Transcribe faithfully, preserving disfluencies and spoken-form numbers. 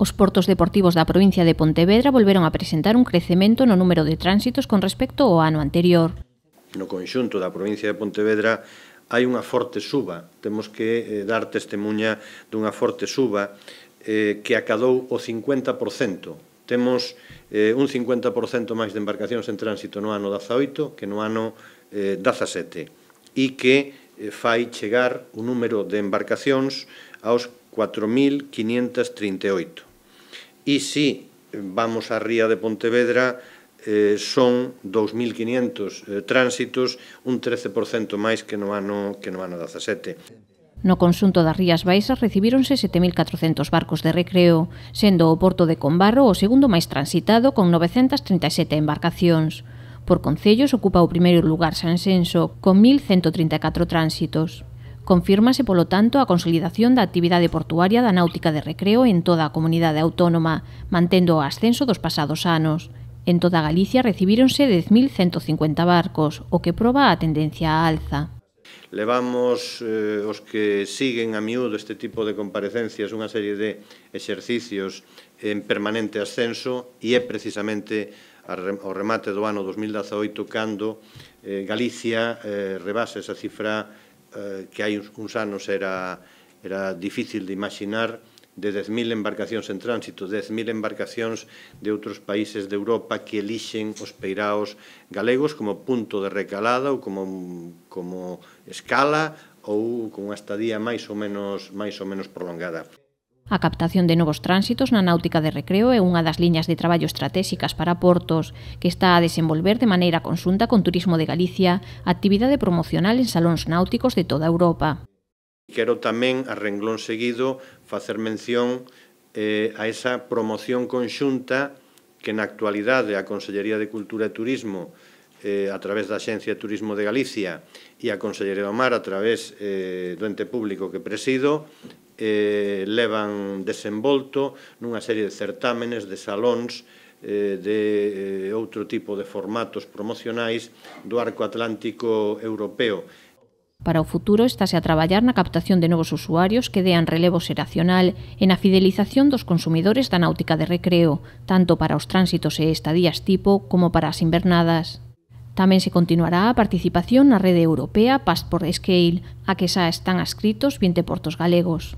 Os portos deportivos da provincia de Pontevedra volveron a presentar un crecemento no número de tránsitos con respecto ao ano anterior. No conxunto da provincia de Pontevedra hai unha forte suba, temos que eh, dar testemunha dunha forte suba eh, que acadou o cincuenta por cento. Temos eh, un cincuenta por cento máis de embarcacións en tránsito no ano dezaoito que no ano eh, dezasete e que eh, fai chegar o número de embarcacións aos cuatro mil quinientos trinta e oito. E se vamos á ría de Pontevedra, eh, son dous mil quinientos eh, tránsitos, un trece por cento máis que no ano que no ano dezasete. No conxunto das Rías Baixas recibíronse sete mil catrocentos barcos de recreo, sendo o porto de Combarro o segundo máis transitado con novecentas trinta e sete embarcacións. Por concellos ocupa o primeiro lugar Sanxenxo, con mil cento trinta e catro tránsitos. Confírmase, polo tanto, a consolidación da actividade portuaria da náutica de recreo en toda a comunidade autónoma, mantendo o ascenso dos pasados anos. En toda Galicia recibíronse dez mil cento cincuenta barcos, o que proba a tendencia á alza. Levamos eh, os que siguen a miúdo este tipo de comparecencias unha serie de exercicios en permanente ascenso e é precisamente ao remate do ano dos mil dezaoito cando eh, Galicia eh, rebasa esa cifra eh, que hai uns anos era, era difícil de imaginar, de dez mil embarcacións en tránsito, dez mil embarcacións de outros países de Europa que elixen os peiraos galegos como punto de recalada ou como, como escala ou con unha estadía máis ou menos, máis ou menos prolongada. A captación de novos tránsitos na náutica de recreo é unha das liñas de traballo estratégicas para Portos, que está a desenvolver de maneira conxunta con Turismo de Galicia actividade promocional en salóns náuticos de toda Europa. Quero tamén, a renglón seguido, facer mención eh, a esa promoción conxunta que na actualidade a Consellería de Cultura e Turismo eh, a través da Axencia de Turismo de Galicia e a Consellería do Mar a través eh, do ente público que presido eh, levan desenvolto nunha serie de certámenes, de salóns, eh, de eh, outro tipo de formatos promocionais do arco atlántico europeo. Para o futuro estáse a traballar na captación de novos usuarios que dean relevo xeracional e na fidelización dos consumidores da náutica de recreo, tanto para os tránsitos e estadías tipo como para as invernadas. Tamén se continuará a participación na rede europea Passport Scale, a que xa están adscritos vinte portos galegos.